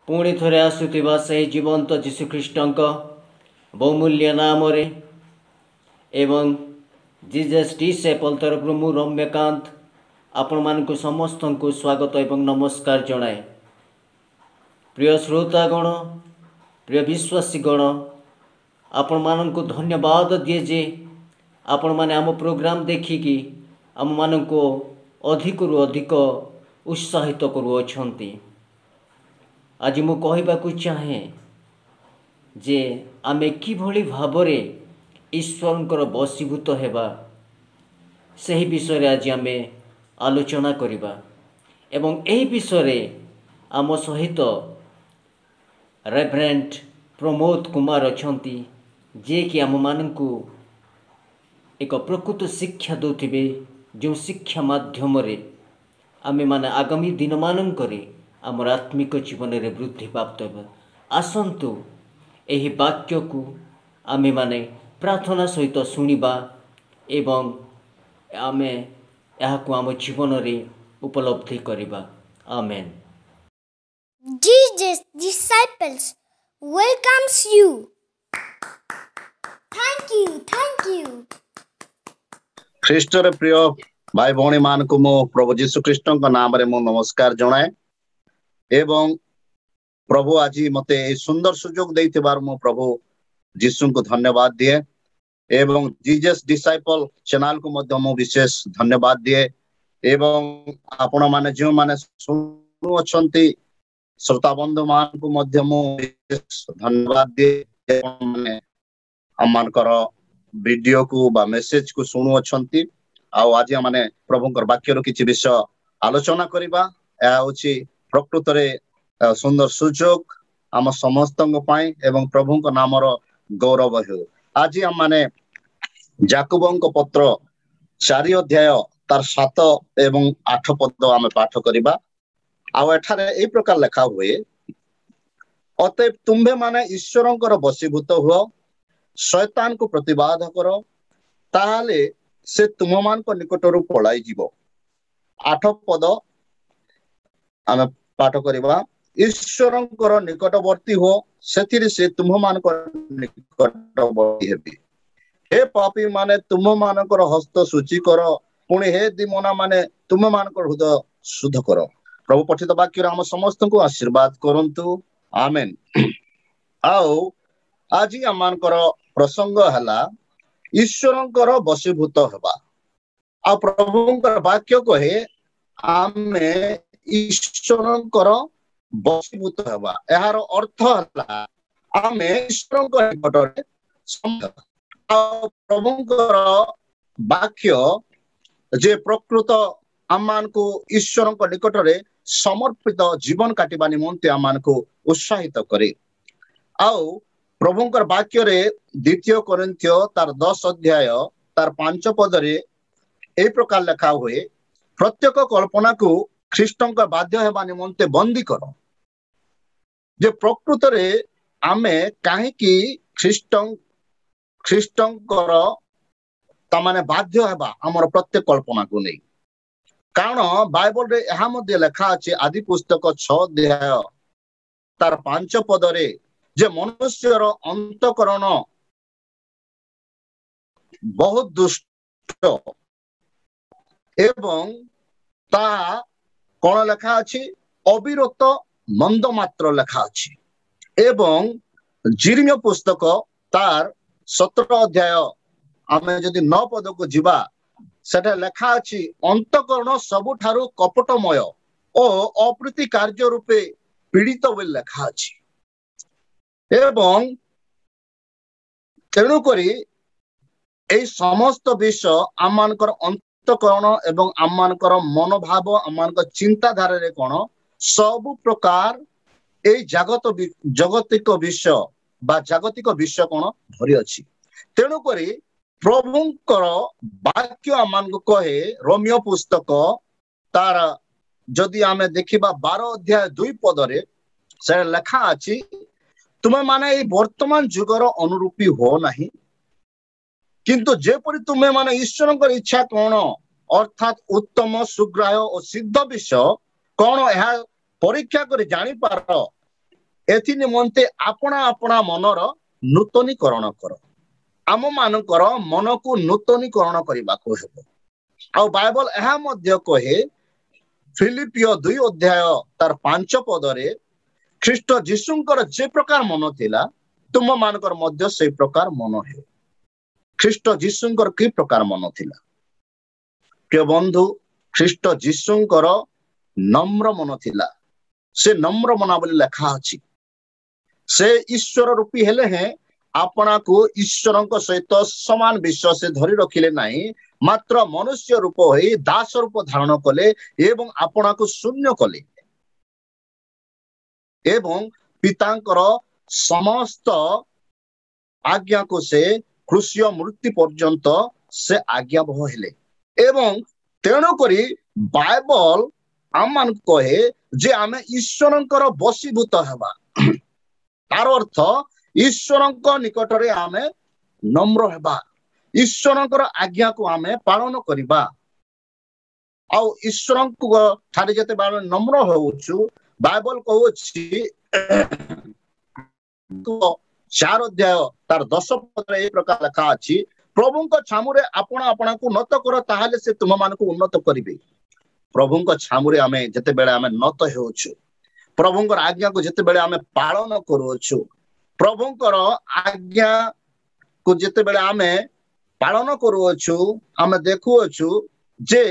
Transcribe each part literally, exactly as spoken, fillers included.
ପୁଣି ଥରେ ଆସୁଥିବା ସେହି ଜୀବନ୍ତ ଯୀଶୁଖ୍ରୀଷ୍ଟଙ୍କ ବହୁମୂଲ୍ୟ ନାମରେ ଏବଂ ଜିଜସ୍ ଡିସାଇପଲ୍ ତରଫରୁ ମୁଁ ରମ୍ୟକାନ୍ତ ଆପଣମାନଙ୍କୁ ସମସ୍ତଙ୍କୁ ସ୍ୱାଗତ ଏବଂ ନମସ୍କାର ଜଣାଏ। ପ୍ରିୟ ଶ୍ରୋତାଗଣ, ପ୍ରିୟ ବିଶ୍ୱାସୀଗଣ, ଆପଣମାନଙ୍କୁ ଧନ୍ୟବାଦ ଦିଏ ଯେ ଆପଣମାନେ ଆମ ପ୍ରୋଗ୍ରାମ ଦେଖିକି ଆମମାନଙ୍କୁ ଅଧିକରୁ ଅଧିକ ଉତ୍ସାହିତ କରୁଅଛନ୍ତି। ଆଜି ମୁଁ କହିବାକୁ ଚାହେଁ ଯେ ଆମେ କିଭଳି ଭାବରେ ଈଶ୍ୱରଙ୍କର ବଶୀଭୂତ ହେବା, ସେହି ବିଷୟରେ ଆଜି ଆମେ ଆଲୋଚନା କରିବା ଏବଂ ଏହି ବିଷୟରେ ଆମ ସହିତ ରେଭରେଣ୍ଡ ପ୍ରମୋଦ କୁମାର ଅଛନ୍ତି, ଯିଏକି ଆମମାନଙ୍କୁ ଏକ ପ୍ରକୃତ ଶିକ୍ଷା ଦେଉଥିବେ, ଯେଉଁ ଶିକ୍ଷା ମାଧ୍ୟମରେ ଆମେମାନେ ଆଗାମୀ ଦିନମାନଙ୍କରେ ଆମର ଆତ୍ମିକ ଜୀବନରେ ବୃଦ୍ଧି ପ୍ରାପ୍ତ ହେବ। ଆସନ୍ତୁ ଏହି ବାକ୍ୟକୁ ଆମେମାନେ ପ୍ରାର୍ଥନା ସହିତ ଶୁଣିବା ଏବଂ ଆମେ ଏହାକୁ ଆମ ଜୀବନରେ ଉପଲବ୍ଧି କରିବା। ଆମେନ୍। Jesus Disciples welcomes you. Thank you, thank you. ଖ୍ରୀଷ୍ଟର ପ୍ରିୟ ଭାଇ ଭଉଣୀ ମାନଙ୍କୁ ମୁଁ ପ୍ରଭୁ ଯୀଶୁ ଖ୍ରୀଷ୍ଟଙ୍କ ନାମରେ ମୁଁ ନମସ୍କାର ଜଣାଏ ଏବଂ ପ୍ରଭୁ ଆଜି ମତେ ଏଇ ସୁନ୍ଦର ସୁଯୋଗ ଦେଇଥିବାରୁ ମୁଁ ପ୍ରଭୁ ଯୀଶୁଙ୍କୁ ଧନ୍ୟବାଦ ଦିଏ ଏବଂ ଜିଜସ୍ ଡିସାଇପଲ ଚ୍ୟାନେଲକୁ ମଧ୍ୟ ମୁଁ ବିଶେଷ ଧନ୍ୟବାଦ ଦିଏ ଏବଂ ଆପଣ ମାନେ ଯେଉଁମାନେ ଶୁଣୁଅଛନ୍ତି, ଶ୍ରୋତା ବନ୍ଧୁ ମାନଙ୍କୁ ମଧ୍ୟ ମୁଁ ବିଶେଷ ଧନ୍ୟବାଦ ଦିଏ, ମାନେ ଆମମାନଙ୍କର ଭିଡିଓକୁ ବା ମେସେଜ କୁ ଶୁଣୁଅଛନ୍ତି। ଆଉ ଆଜି ଆମେ ପ୍ରଭୁଙ୍କର ବାକ୍ୟର କିଛି ବିଷୟ ଆଲୋଚନା କରିବା। ଏହା ହଉଛି ପ୍ରକୃତରେ ସୁନ୍ଦର ସୁଯୋଗ ଆମ ସମସ୍ତଙ୍କ ପାଇଁ ଏବଂ ପ୍ରଭୁଙ୍କ ନାମର ଗୌରବ ହେଉ। ଆଜି ଆମମାନେ ଯାକୁବଙ୍କ ପତ୍ର ଚାରି ଅଧ୍ୟାୟ ତାର ସାତ ଏବଂ ଆଠ ପଦ ଆମେ ପାଠ କରିବା। ଆଉ ଏଠାରେ ଏଇ ପ୍ରକାର ଲେଖା ହୁଏ, ଅତଏବ ତୁମ୍ଭେ ମାନେ ଈଶ୍ୱରଙ୍କର ବଶୀଭୂତ ହୁଅ, ଶୟତାନକୁ ପ୍ରତିବାଦ କର, ତାହେଲେ ସେ ତୁମମାନଙ୍କ ନିକଟରୁ ପଳାଇ ଯିବ। ଆଠ ପଦ ଆମେ ପାଠ କରିବା, ଈଶ୍ୱରଙ୍କର ନିକଟବର୍ତ୍ତୀ ହୁଅ, ସେଥିରେ ସେ ତୁମ୍ଭମାନଙ୍କ ନିକଟବର୍ତ୍ତୀ ହେବେ। ହେ ପାପୀ ମାନେ, ତୁମ୍ଭମାନଙ୍କର ହସ୍ତ ଶୁଚି କର, ପୁଣି ହେ ଦିମନା ମାନେ, ତୁମ୍ଭମାନଙ୍କର ହୃଦୟ ଶୁଦ୍ଧ କର। ପ୍ରଭୁ ପଠିତ ବାକ୍ୟରେ ଆମ ସମସ୍ତଙ୍କୁ ଆଶୀର୍ବାଦ କରନ୍ତୁ, ଆମେନ୍। ଆଉ ଆଜି ଆମମାନଙ୍କର ପ୍ରସଙ୍ଗ ହେଲା ଈଶ୍ୱରଙ୍କର ବଶୀଭୂତ ହେବା। ଆଉ ପ୍ରଭୁଙ୍କର ବାକ୍ୟ କହେ ଆମେ ଈଶ୍ୱରଙ୍କର ବଶୀଭୂତ ହେବା। ଏହାର ଅର୍ଥ ହେଲା ଆମେ ଈଶ୍ୱରଙ୍କ ନିକଟରେ, ଆଉ ପ୍ରଭୁଙ୍କର ବାକ୍ୟ ଯେ ପ୍ରକୃତ ଆମମାନଙ୍କୁ ଈଶ୍ୱରଙ୍କ ନିକଟରେ ସମର୍ପିତ ଜୀବନ କାଟିବା ନିମନ୍ତେ ଆମମାନଙ୍କୁ ଉତ୍ସାହିତ କରେ। ଆଉ ପ୍ରଭୁଙ୍କର ବାକ୍ୟରେ ଦ୍ୱିତୀୟ କରିନ୍ଥୀୟ ତାର ଦଶ ଅଧ୍ୟାୟ ତାର ପାଞ୍ଚ ପଦରେ ଏଇ ପ୍ରକାର ଲେଖା ହୁଏ, ପ୍ରତ୍ୟେକ କଳ୍ପନାକୁ ଖ୍ରୀଷ୍ଟଙ୍କ ବାଧ୍ୟ ହେବା ନିମନ୍ତେ ବନ୍ଦୀ କର। ଯେ ପ୍ରକୃତରେ ଆମେ କାହିଁକି ଖ୍ରୀଷ୍ଟ ଖ୍ରୀଷ୍ଟଙ୍କର ତାମାନେ ବାଧ୍ୟ ହେବା ଆମର ପ୍ରତ୍ୟେକ କଳ୍ପନାକୁ ନେଇ, କାରଣ ବାଇବଲରେ ଏହା ମଧ୍ୟ ଲେଖା ଅଛି ଆଦି ପୁସ୍ତକ ଛଅ ଅଧ୍ୟାୟ ତାର ପାଞ୍ଚ ପଦରେ ଯେ ମନୁଷ୍ୟର ଅନ୍ତଃକରଣ ବହୁତ ଦୁଷ୍ଟ ଏବଂ ତାହା କଣ ଲେଖା ଅଛି, ଅବିରତ ମନ୍ଦ ମାତ୍ର ଲେଖା ଅଛି। ଏବଂ ଯିରିମିୟ ପୁସ୍ତକ ତାର ସତର ଅଧ୍ୟାୟ ଆମେ ଯଦି ନଅ ପଦକୁ ଯିବା, ସେଟା ଲେଖା ଅଛି ଅନ୍ତଃକରଣ ସବୁଠାରୁ କପଟମୟ ଓ ଅପ୍ରୀତି କାର୍ଯ୍ୟ ରୂପେ ପୀଡ଼ିତ ବୋଲି ଲେଖା ଅଛି। ଏବଂ ତେଣୁକରି ଏଇ ସମସ୍ତ ବିଷୟ ଆମମାନଙ୍କର ଅନ୍ତଃକରଣ ଏବଂ ଆମମାନଙ୍କର ମନୋଭାବ, ଆମମାନଙ୍କ ଚିନ୍ତାଧାରାରେ କଣ ସବୁ ପ୍ରକାର ଏଇ ଜାଗତ ଜଗତିକ ବିଷୟ ବା ଜାଗତିକ ବିଷୟ କଣ ଭରି ଅଛି। ତେଣୁକରି ପ୍ରଭୁଙ୍କର ବାକ୍ୟ ଆମମାନଙ୍କୁ କହେ ରୋମୀୟ ପୁସ୍ତକ ତାର ଯଦି ଆମେ ଦେଖିବା ବାର ଅଧ୍ୟାୟ ଦୁଇ ପଦରେ ସେ ଲେଖା ଅଛି, ତୁମେ ମାନେ ଏଇ ବର୍ତ୍ତମାନ ଯୁଗର ଅନୁରୂପୀ ହୁଅ ନାହିଁ, କିନ୍ତୁ ଯେପରି ତୁମେ ମାନେ ଈଶ୍ୱରଙ୍କର ଇଚ୍ଛା କଣ, ଅର୍ଥାତ୍ ଉତ୍ତମ, ସୁଗ୍ରାହ୍ୟ ଓ ସିଦ୍ଧ ବିଷୟ କଣ, ଏହା ପରୀକ୍ଷା କରି ଜାଣିପାର, ଏଥି ନିମନ୍ତେ ଆପଣା ଆପଣା ମନର ନୂତନୀକରଣ କର। ଆମ ମାନଙ୍କର ମନକୁ ନୂତନୀକରଣ କରିବାକୁ ହେବ। ଆଉ ବାଇବଲ ଏହା ମଧ୍ୟ କହେ, ଫିଲିପିଓ ଦୁଇ ଅଧ୍ୟାୟ ତାର ପାଞ୍ଚ ପଦରେ, ଖ୍ରୀଷ୍ଟ ଯୀଶୁଙ୍କର ଯେ ପ୍ରକାର ମନ ଥିଲା, ତୁମ ମାନଙ୍କର ମଧ୍ୟ ସେଇ ପ୍ରକାର ମନ ହେଉ। ଖ୍ରୀଷ୍ଟ ଯୀଶୁଙ୍କର କି ପ୍ରକାର ମନ ଥିଲା? ପ୍ରିୟ ବନ୍ଧୁ, ଖ୍ରୀଷ୍ଟ ଯୀଶୁଙ୍କର ନମ୍ର ମନ ଥିଲା। ସେ ନମ୍ର ମନା ବୋଲି ଲେଖା ଅଛି। ସେ ଈଶ୍ୱର ରୂପୀ ହେଲେ ହେଁ ଆପଣାକୁ ଈଶ୍ୱରଙ୍କ ସହିତ ସମାନ ବିଷୟ ସେ ଧରି ରଖିଲେ ନାହିଁ, ମାତ୍ର ମନୁଷ୍ୟ ରୂପ ହୋଇ ଦାସ ରୂପ ଧାରଣ କଲେ ଏବଂ ଆପଣାକୁ ଶୂନ୍ୟ କଲେ ଏବଂ ପିତାଙ୍କର ସମସ୍ତ ଆଜ୍ଞାକୁ ସେ କୃଷିୟ ମୃତ୍ୟୁ ପର୍ଯ୍ୟନ୍ତ ସେ ଆଜ୍ଞାବହ ହେଲେ। ଏବଂ ତେଣୁକରି ବାଇବଲ ଆମମାନଙ୍କୁ କହେ ଯେ ଆମେ ଈଶ୍ୱରଙ୍କର ବଶୀଭୂତ ହେବା। ତାର ଅର୍ଥ ଈଶ୍ୱରଙ୍କ ନିକଟରେ ଆମେ ନମ୍ର ହେବା, ଈଶ୍ୱରଙ୍କର ଆଜ୍ଞାକୁ ଆମେ ପାଳନ କରିବା। ଆଉ ଈଶ୍ୱରଙ୍କ ଠାରେ ଯେତେବେଳେ ଆମେ ନମ୍ର ହଉଛୁ, ବାଇବଲ କହୁଅଛି ଚାର ଅଧ୍ୟାୟ ତାର ଦଶ ପଦରେ ଏଇ ପ୍ରକାର ଲେଖା ଅଛି, ପ୍ରଭୁଙ୍କ ଛାମୁରେ ଆପଣ ଆପଣଙ୍କୁ ନତ କର, ତାହେଲେ ସେ ତୁମମାନଙ୍କୁ ଉନ୍ନତ କରିବେ। ପ୍ରଭୁଙ୍କ ଛାମୁରେ ଆମେ ଯେତେବେଳେ ଆମେ ନତ ହେଉଛୁ, ପ୍ରଭୁଙ୍କର ଆଜ୍ଞାକୁ ଯେତେବେଳେ ଆମେ ପାଳନ କରୁଅଛୁ, ପ୍ରଭୁଙ୍କର ଆଜ୍ଞାକୁ ଯେତେବେଳେ ଆମେ ପାଳନ କରୁଅଛୁ, ଆମେ ଦେଖୁଅଛୁ ଯେ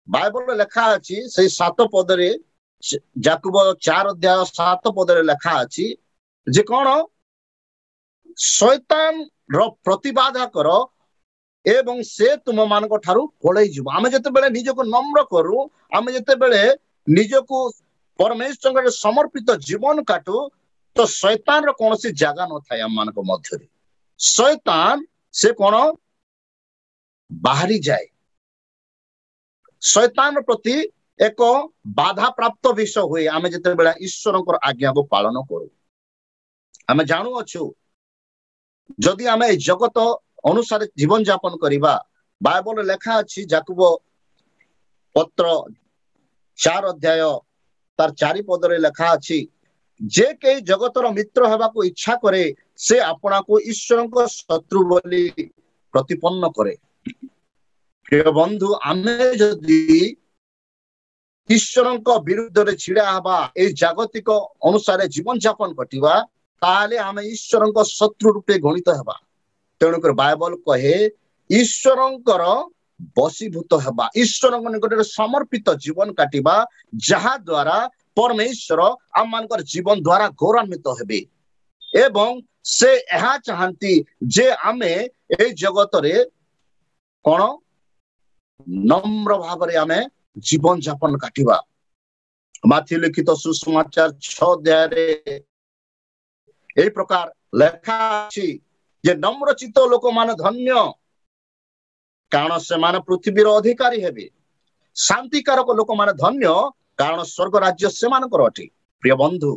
ବାଇବଲରେ ଲେଖା ଅଛି ସେଇ ସାତ ପଦରେ, ଯାକୁବ ଚାର ଅଧ୍ୟାୟ ସାତ ପଦରେ ଲେଖା ଅଛି ଯେ କଣ, ଶୈତାନ ର ପ୍ରତିବାଧା କର ଏବଂ ସେ ତୁମ ମାନଙ୍କ ଠାରୁ ପଳେଇ ଯିବ। ଆମେ ଯେତେବେଳେ ନିଜକୁ ନମ୍ର କରୁ, ଆମେ ଯେତେବେଳେ ନିଜକୁ ପରମେଶ୍ୱରଙ୍କର ସମର୍ପିତ ଜୀବନ କାଟୁ, ତ ଶୈତାନର କୌଣସି ଜାଗା ନଥାଏ ଆମ ମାନଙ୍କ ମଧ୍ୟରେ। ଶୈତାନ ସେ କଣ ବାହାରି ଯାଏ। ଶୈତାନ ପ୍ରତି ଏକ ବାଧା ପ୍ରାପ୍ତ ବିଷୟ ହୁଏ ଆମେ ଯେତେବେଳେ ଈଶ୍ୱରଙ୍କର ଆଜ୍ଞାକୁ ପାଳନ କରୁ। ଆମେ ଜାଣୁଅଛୁ ଯଦି ଆମେ ଏଇ ଜଗତ ଅନୁସାରେ ଜୀବନ ଯାପନ କରିବା, ବାଇବଲରେ ଲେଖା ଅଛି ଯାକୁବ ପତ୍ର ଚାର ଅଧ୍ୟାୟ ତାର ଚାରି ପଦରେ ଲେଖା ଅଛି, ଯେ କେହି ଜଗତର ମିତ୍ର ହେବାକୁ ଇଚ୍ଛା କରେ ସେ ଆପଣାକୁ ଈଶ୍ୱରଙ୍କ ଶତ୍ରୁ ବୋଲି ପ୍ରତିପନ୍ନ କରେ। ପ୍ରିୟ ବନ୍ଧୁ, ଆମେ ଯଦି ଈଶ୍ୱରଙ୍କ ବିରୁଦ୍ଧରେ ଛିଡା ହେବା, ଏଇ ଜାଗତିକ ଅନୁସାରେ ଜୀବନ ଯାପନ କଟିବା, ତାହେଲେ ଆମେ ଈଶ୍ୱରଙ୍କ ଶତ୍ରୁ ରୂପେ ଗଣିତ ହେବା। ତେଣୁକରି ବାଇବଲ କହେ ଈଶ୍ୱରଙ୍କର ବଶୀଭୂତ ହେବା, ଈଶ୍ୱରଙ୍କ ନିକଟରେ ସମର୍ପିତ ଜୀବନ କାଟିବା, ଯାହା ଦ୍ୱାରା ପରମେଶ୍ୱର ଆମମାନଙ୍କର ଜୀବନ ଦ୍ୱାରା ଗୌରବାନ୍ୱିତ ହେବେ। ଏବଂ ସେ ଏହା ଚାହାନ୍ତି ଯେ ଆମେ ଏଇ ଜଗତରେ କଣ ନମ୍ର ଭାବରେ ଆମେ ଜୀବନ ଯାପନ କାଟିବା। ମାଥି ଲିଖିତ ସୁସମାଚାର ଛଅ ଅଧ୍ୟାୟରେ ଏଇ ପ୍ରକାର ଲେଖା ଅଛି ଯେ ନମ୍ରଚିତ୍ତ ଲୋକମାନେ ଧନ୍ୟ, କାରଣ ସେମାନେ ପୃଥିବୀର ଅଧିକାରୀ ହେବେ। ଶାନ୍ତିକାରକ ଲୋକମାନେ ଧନ୍ୟ, କାରଣ ସ୍ୱର୍ଗ ରାଜ୍ୟ ସେମାନଙ୍କର ଅଟେ। ପ୍ରିୟ ବନ୍ଧୁ,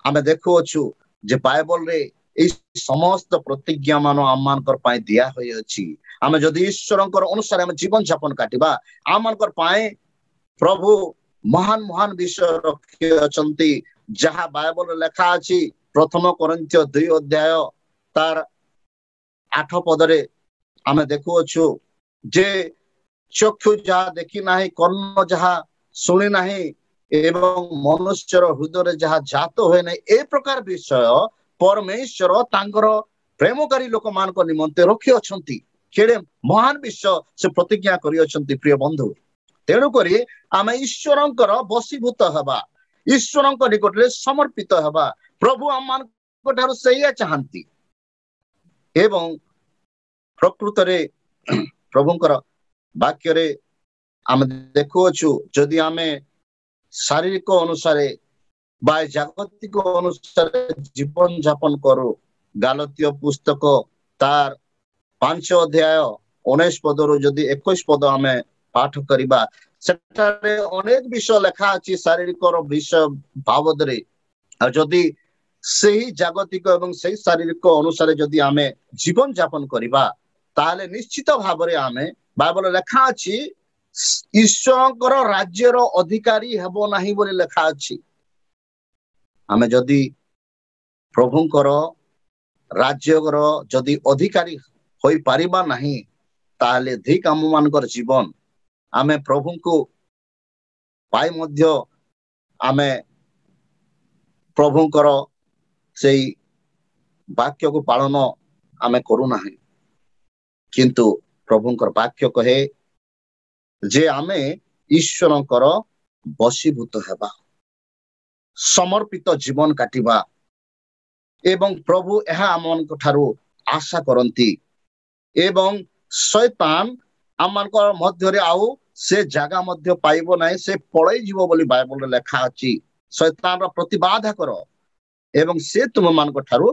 ଆମେ ଦେଖୁଅଛୁ ଯେ ବାଇବଲରେ ଏଇ ସମସ୍ତ ପ୍ରତିଜ୍ଞା ମାନ ଆମମାନଙ୍କର ପାଇଁ ଦିଆ ହୋଇଅଛି। ଆମେ ଯଦି ଈଶ୍ୱରଙ୍କର ଅନୁସାରେ ଆମେ ଜୀବନ ଯାପନ କାଟିବା, ଆମମାନଙ୍କର ପାଇଁ ପ୍ରଭୁ ମହାନ ମହାନ ବିଷୟ ରଖିଅଛନ୍ତି, ଯାହା ବାଇବଲରେ ଲେଖା ଅଛି ପ୍ରଥମ କରିନ୍ଥୀୟ ଦୁଇ ଅଧ୍ୟାୟ ତାର ଆଠ ପଦରେ ଆମେ ଦେଖୁଅଛୁ ଯେ ଚକ୍ଷୁ ଯାହା ଦେଖି ନାହିଁ, କର୍ଣ୍ଣ ଯାହା ଶୁଣି ନାହିଁ ଏବଂ ମନୁଷ୍ୟର ହୃଦୟରେ ଯାହା ଜାତ ହୁଏ ନାହିଁ, ଏ ପ୍ରକାର ବିଷୟ ପରମେଶ୍ୱର ତାଙ୍କର ପ୍ରେମକାରୀ ଲୋକମାନଙ୍କ ନିମନ୍ତେ ରଖିଅଛନ୍ତି। କେଡ଼େ ମହାନ ବିଷୟ ସେ ପ୍ରତିଜ୍ଞା କରିଅଛନ୍ତି ପ୍ରିୟ ବନ୍ଧୁ। ତେଣୁକରି ଆମେ ଈଶ୍ୱରଙ୍କର ବଶୀଭୂତ ହେବା, ଈଶ୍ୱରଙ୍କ ନିକଟରେ ସମର୍ପିତ ହେବା। ପ୍ରଭୁ ଆମମାନଙ୍କ ଠାରୁ ସେଇଆ ଚାହାନ୍ତି। ଏବଂ ପ୍ରକୃତରେ ପ୍ରଭୁଙ୍କର ବାକ୍ୟରେ ଆମେ ଦେଖୁଅଛୁ, ଯଦି ଆମେ ଶାରୀରିକ ଅନୁସାରେ ବା ଜାଗତିକ ଅନୁସାରେ ଜୀବନ ଯାପନ କରୁ, ଗାଲତୀୟ ପୁସ୍ତକ ତାର ପାଞ୍ଚ ଅଧ୍ୟାୟ ଉଣେଇଶ ପଦରୁ ଯଦି ଏକୋଇଶ ପଦ ଆମେ ପାଠ କରିବା, ସେଠାରେ ଅନେକ ବିଷୟ ଲେଖା ଅଛି ଶାରୀରିକର ବିଷୟ ବାବଦରେ। ଆଉ ଯଦି ସେହି ଜାଗତିକ ଏବଂ ସେଇ ଶାରୀରିକ ଅନୁସାରେ ଯଦି ଆମେ ଜୀବନ ଯାପନ କରିବା, ତାହେଲେ ନିଶ୍ଚିତ ଭାବରେ ଆମେ ବାଇବଲରେ ଲେଖା ଅଛି ଈଶ୍ୱରଙ୍କର ରାଜ୍ୟର ଅଧିକାରୀ ହେବ ନାହିଁ ବୋଲି ଲେଖା ଅଛି। ଆମେ ଯଦି ପ୍ରଭୁଙ୍କର ରାଜ୍ୟର ଯଦି ଅଧିକାରୀ ହୋଇପାରିବା ନାହିଁ, ତାହେଲେ ଧିକ ଆମ ମାନଙ୍କର ଜୀବନ। ଆମେ ପ୍ରଭୁଙ୍କୁ ପାଇ ମଧ୍ୟ ଆମେ ପ୍ରଭୁଙ୍କର ସେଇ ବାକ୍ୟକୁ ପାଳନ ଆମେ କରୁନାହିଁ। କିନ୍ତୁ ପ୍ରଭୁଙ୍କର ବାକ୍ୟ କହେ ଯେ ଆମେ ଈଶ୍ୱରଙ୍କର ବଶୀଭୂତ ହେବା, ସମର୍ପିତ ଜୀବନ କାଟିବା ଏବଂ ପ୍ରଭୁ ଏହା ଆମମାନଙ୍କ ଠାରୁ ଆଶା କରନ୍ତି। ଏବଂ ଶୈତାନ ଆମମାନଙ୍କ ମଧ୍ୟରେ ଆଉ ସେ ଜାଗା ମଧ୍ୟ ପାଇବ ନାହିଁ, ସେ ପଳେଇ ଯିବ ବୋଲି ବାଇବଲରେ ଲେଖା ଅଛି। ଶୈତାନର ପ୍ରତିବାଧା କର ଏବଂ ସେ ତୁମମାନଙ୍କ ଠାରୁ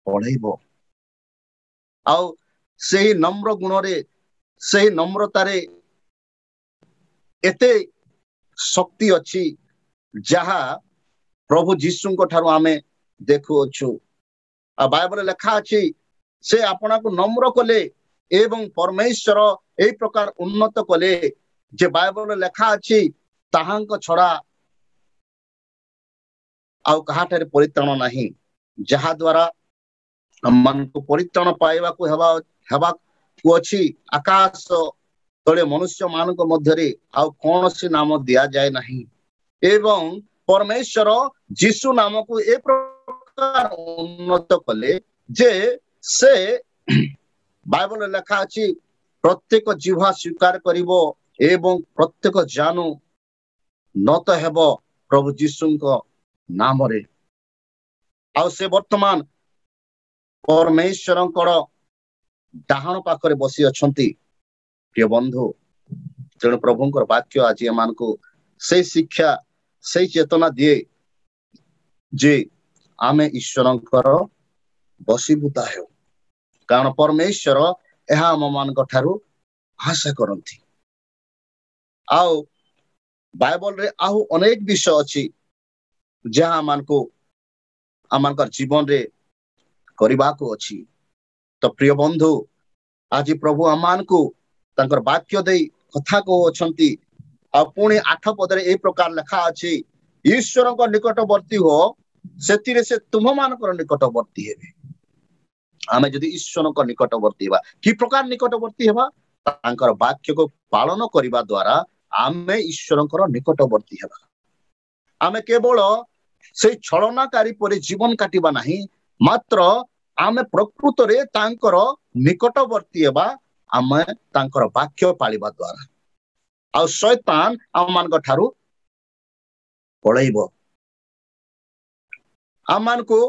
ପଳେଇବ। ଆଉ ସେହି ନମ୍ର ଗୁଣରେ, ସେହି ନମ୍ରତାରେ ଏତେ ଶକ୍ତି ଅଛି, ଯାହା ପ୍ରଭୁ ଯୀଶୁଙ୍କ ଠାରୁ ଆମେ ଦେଖୁଅଛୁ। ଆଉ ବାଇବଲରେ ଲେଖା ଅଛି, ସେ ଆପଣଙ୍କୁ ନମ୍ର କଲେ ଏବଂ ପରମେଶ୍ୱର ଏଇ ପ୍ରକାର ଉନ୍ନତ କଲେ ଯେ ବାଇବଲରେ ଲେଖା ଅଛି, ତାହାଙ୍କ ଛଡା ଆଉ କାହାଠାରେ ପରିତ୍ରାଣ ନାହିଁ। ଯାହା ଦ୍ଵାରା ଆମମାନଙ୍କୁ ପରିତ୍ରାଣ ପାଇବାକୁ ହେବା ହେବାକୁ ଅଛି, ଆକାଶ ତଳେ ମନୁଷ୍ୟ ମାନଙ୍କ ମଧ୍ୟରେ ଆଉ କୌଣସି ନାମ ଦିଆଯାଏ ନାହିଁ। ଏବଂ ପରମେଶ୍ୱର ଯୀଶୁ ନାମକୁ ଏ ପ୍ରକାର ଉନ୍ନତ କଲେ ଯେ ସେ ବାଇବଲରେ ଲେଖା ଅଛି, ପ୍ରତ୍ୟେକ ଜିହ୍ୱା ସ୍ୱୀକାର କରିବ ଏବଂ ପ୍ରତ୍ୟେକ ଜାନୁ ନତ ହେବ ପ୍ରଭୁ ଯୀଶୁଙ୍କ ନାମରେ। ଆଉ ସେ ବର୍ତ୍ତମାନ ପରମେଶ୍ୱରଙ୍କର ଡାହାଣ ପାଖରେ ବସି ଅଛନ୍ତି। ପ୍ରିୟ ବନ୍ଧୁ, ତେଣୁ ପ୍ରଭୁଙ୍କର ବାକ୍ୟ ଆଜି ଏମାନଙ୍କୁ ସେଇ ଶିକ୍ଷା, ସେଇ ଚେତନା ଦିଏ ଯେ ଆମେ ଈଶ୍ୱରଙ୍କର ବଶୀଭୂତ ହେଉ, କାରଣ ପରମେଶ୍ୱର ଏହା ଆମ ମାନଙ୍କ ଠାରୁ ଆଶା କରନ୍ତି। ଆଉ ବାଇବଲରେ ଆଉ ଅନେକ ବିଷୟ ଅଛି ଯାହା ଆମମାନଙ୍କୁ ଆମମାନଙ୍କର ଜୀବନରେ କରିବାକୁ ଅଛି। ତ ପ୍ରିୟ ବନ୍ଧୁ, ଆଜି ପ୍ରଭୁ ଆମମାନଙ୍କୁ ତାଙ୍କର ବାକ୍ୟ ଦେଇ କଥା କହୁଅଛନ୍ତି। ଆଉ ପୁଣି ଆଠ ପଦରେ ଏଇ ପ୍ରକାର ଲେଖା ଅଛି, ଈଶ୍ୱରଙ୍କ ନିକଟବର୍ତ୍ତୀ ହୁଅ, ସେଥିରେ ସେ ତୁମମାନଙ୍କର ନିକଟବର୍ତ୍ତୀ ହେବେ। ଆମେ ଯଦି ଈଶ୍ୱରଙ୍କ ନିକଟବର୍ତ୍ତୀ ହେବା, କି ପ୍ରକାର ନିକଟବର୍ତ୍ତୀ ହେବା? ତାଙ୍କର ବାକ୍ୟକୁ ପାଳନ କରିବା ଦ୍ଵାରା ଆମେ ଈଶ୍ୱରଙ୍କର ନିକଟବର୍ତ୍ତୀ ହେବା। ଆମେ କେବଳ ସେଇ ଛଳନାକାରୀ ପରି ଜୀବନ କାଟିବା ନାହିଁ, ମାତ୍ର ଆମେ ପ୍ରକୃତରେ ତାଙ୍କର ନିକଟବର୍ତ୍ତୀ ହେବା ଆମେ ତାଙ୍କର ବାକ୍ୟ ପାଳିବା ଦ୍ଵାରା। ଆଉ ଶୈତାନ ଆମମାନଙ୍କ ଠାରୁ ପଳେଇବ। ଆମମାନଙ୍କୁ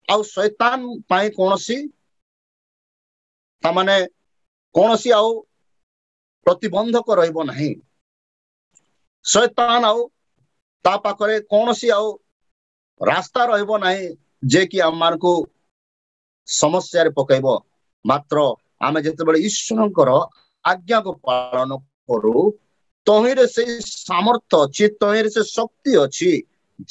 ଆଉ ଶୈତାନ ପାଇଁ କୌଣସି ତାମାନେ କୌଣସି ଆଉ ପ୍ରତିବନ୍ଧକ ରହିବ ନାହିଁ। ଶୈତାନ ଆଉ ତା ପାଖରେ କୌଣସି ଆଉ ରାସ୍ତା ରହିବ ନାହିଁ ଯେ କି ଆମମାନଙ୍କୁ ସମସ୍ୟାରେ ପକେଇବ। ମାତ୍ର ଆମେ ଯେତେବେଳେ ଈଶ୍ୱରଙ୍କର ଆଜ୍ଞାକୁ ପାଳନ କରୁ, ତହିଁରେ ସେଇ ସାମର୍ଥ୍ୟ ଅଛି, ତହିଁରେ ସେ ଶକ୍ତି ଅଛି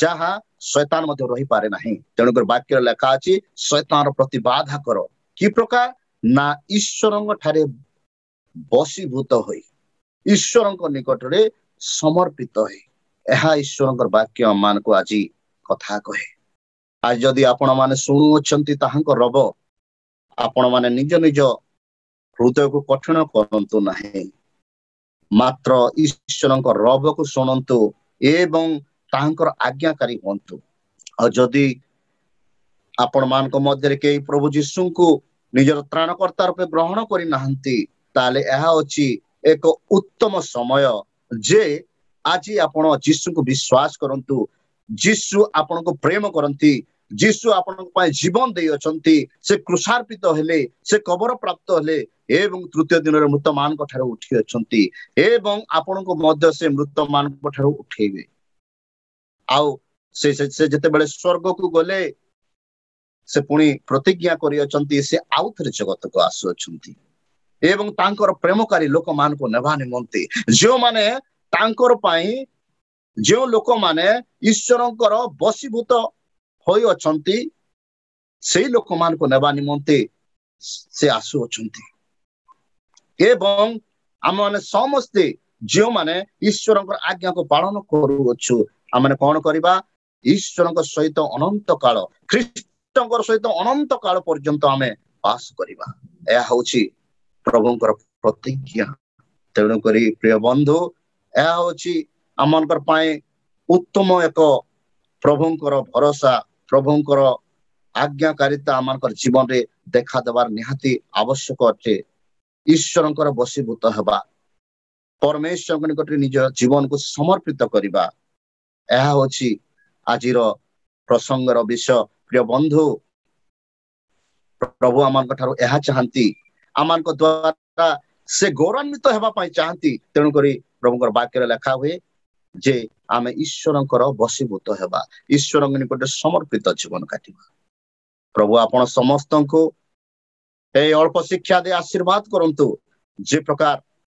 ଯାହା ଶୈତାନ ମଧ୍ୟ ରହିପାରେ ନାହିଁ। ତେଣୁକରି ବାକ୍ୟରେ ଲେଖା ଅଛି, ଶୈତାନର ପ୍ରତିବାଧା କର। କି ପ୍ରକାର? ନା ଈଶ୍ୱରଙ୍କ ଠାରେ ବଶୀଭୂତ ହୋଇ, ଈଶ୍ୱରଙ୍କ ନିକଟରେ ସମର୍ପିତ ହୋଇ। ଏହା ଈଶ୍ୱରଙ୍କର ବାକ୍ୟ ଆମମାନଙ୍କୁ ଆଜି କଥା କହେ। ଆଜି ଯଦି ଆପଣମାନେ ଶୁଣୁଅଛନ୍ତି ତାହାଙ୍କ ରବ, ଆପଣମାନେ ନିଜ ନିଜ ହୃଦୟକୁ କଠିନ କରନ୍ତୁ ନାହିଁ, ମାତ୍ର ଈଶ୍ୱରଙ୍କ ରବକୁ ଶୁଣନ୍ତୁ ଏବଂ ତାହାଙ୍କର ଆଜ୍ଞାକାରୀ ହୁଅନ୍ତୁ। ଆଉ ଯଦି ଆପଣମାନଙ୍କ ମଧ୍ୟରେ କେହି ପ୍ରଭୁ ଯୀଶୁଙ୍କୁ ନିଜର ତ୍ରାଣକର୍ତ୍ତା ରୂପେ ଗ୍ରହଣ କରିନାହାନ୍ତି, ତାହେଲେ ଏହା ଅଛି ଏକ ଉତ୍ତମ ସମୟ ଯେ ଆଜି ଆପଣ ଯୀଶୁଙ୍କୁ ବିଶ୍ୱାସ କରନ୍ତୁ। ଯୀଶୁ ଆପଣଙ୍କୁ ପ୍ରେମ କରନ୍ତି, ଯୀଶୁ ଆପଣଙ୍କ ପାଇଁ ଜୀବନ ଦେଇଅଛନ୍ତି। ସେ କ୍ରୁଶାର୍ପିତ ହେଲେ, ସେ କବର ପ୍ରାପ୍ତ ହେଲେ ଏବଂ ତୃତୀୟ ଦିନରେ ମୃତମାନଙ୍କ ଠାରୁ ଉଠି ଅଛନ୍ତି ଏବଂ ଆପଣଙ୍କୁ ମଧ୍ୟ ସେ ମୃତମାନଙ୍କ ଠାରୁ ଉଠେଇବେ। ଆଉ ସେ ସେ ଯେତେବେଳେ ସ୍ୱର୍ଗକୁ ଗଲେ, ସେ ପୁଣି ପ୍ରତିଜ୍ଞା କରିଅଛନ୍ତି, ସେ ଆଉ ଥରେ ଜଗତକୁ ଆସୁଅଛନ୍ତି ଏବଂ ତାଙ୍କର ପ୍ରେମକାରୀ ଲୋକମାନଙ୍କୁ ନେବା ନିମନ୍ତେ, ଯେଉଁମାନେ ତାଙ୍କର ପାଇଁ, ଯେଉଁ ଲୋକମାନେ ଈଶ୍ୱରଙ୍କର ବଶୀଭୂତ ହୋଇଅଛନ୍ତି, ସେଇ ଲୋକମାନଙ୍କୁ ନେବା ନିମନ୍ତେ ସେ ଆସୁଅଛନ୍ତି। ଏବଂ ଆମମାନେ ସମସ୍ତେ ଯେଉଁମାନେ ଈଶ୍ୱରଙ୍କର ଆଜ୍ଞାକୁ ପାଳନ କରୁଅଛୁ, ଆମମାନେ କଣ କରିବା? ଈଶ୍ୱରଙ୍କ ସହିତ ଅନନ୍ତ କାଳ, ଖ୍ରୀଷ୍ଟଙ୍କର ସହିତ ଅନନ୍ତ କାଳ ପର୍ଯ୍ୟନ୍ତ ଆମେ ବାସ କରିବା। ଏହା ହଉଛି ପ୍ରଭୁଙ୍କର ପ୍ରତିଜ୍ଞା। ତେଣୁକରି ପ୍ରିୟ ବନ୍ଧୁ, ଏହା ହଉଛି ଆମମାନଙ୍କର ପାଇଁ ଉତ୍ତମ ଏକ ପ୍ରଭୁଙ୍କର ଭରସା। ପ୍ରଭୁଙ୍କର ଆଜ୍ଞାକାରିତା ଆମମାନଙ୍କର ଜୀବନରେ ଦେଖା ଦେବାର ନିହାତି ଆବଶ୍ୟକ ଅଟେ। ଈଶ୍ୱରଙ୍କର ବଶୀଭୂତ ହେବା, ପରମେଶ୍ୱରଙ୍କ ନିକଟରେ ନିଜ ଜୀବନକୁ ସମର୍ପିତ କରିବା, ଏହା ହଉଛି ଆଜିର ପ୍ରସଙ୍ଗର ବିଷୟ। ପ୍ରିୟ ବନ୍ଧୁ, ପ୍ରଭୁ ଆମମାନଙ୍କ ଠାରୁ ଏହା ଚାହାନ୍ତି, ଆମମାନଙ୍କ ଦ୍ଵାରା ସେ ଗୌରବାନ୍ୱିତ ହେବା ପାଇଁ ଚାହାନ୍ତି। ତେଣୁକରି ପ୍ରଭୁଙ୍କର ବାକ୍ୟରେ ଲେଖା ହୁଏ ଯେ ଆମେ ଈଶ୍ୱରଙ୍କର ବଶୀଭୂତ ହେବା, ଈଶ୍ୱରଙ୍କ ନିକଟରେ ସମର୍ପିତ ଜୀବନ କାଟିବା। ପ୍ରଭୁ ଆପଣ ସମସ୍ତଙ୍କୁ ଏଇ ଅଳ୍ପ ଶିକ୍ଷା ଦେଇ ଆଶୀର୍ବାଦ କରନ୍ତୁ, ଯେ ପ୍ରକାର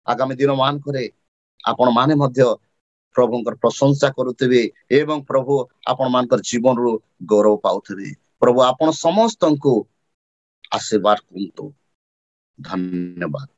ଆଗାମୀ ଦିନ ମାନଙ୍କରେ ଆପଣ ମାନେ ମଧ୍ୟ ପ୍ରଭୁଙ୍କର ପ୍ରଶଂସା କରୁଥିବେ ଏବଂ ପ୍ରଭୁ ଆପଣ ମାନଙ୍କର ଜୀବନରୁ ଗୌରବ ପାଉଥିବେ। ପ୍ରଭୁ ଆପଣ ସମସ୍ତଙ୍କୁ ଆଶୀର୍ବାଦ କରନ୍ତୁ। ଧନ୍ୟବାଦ।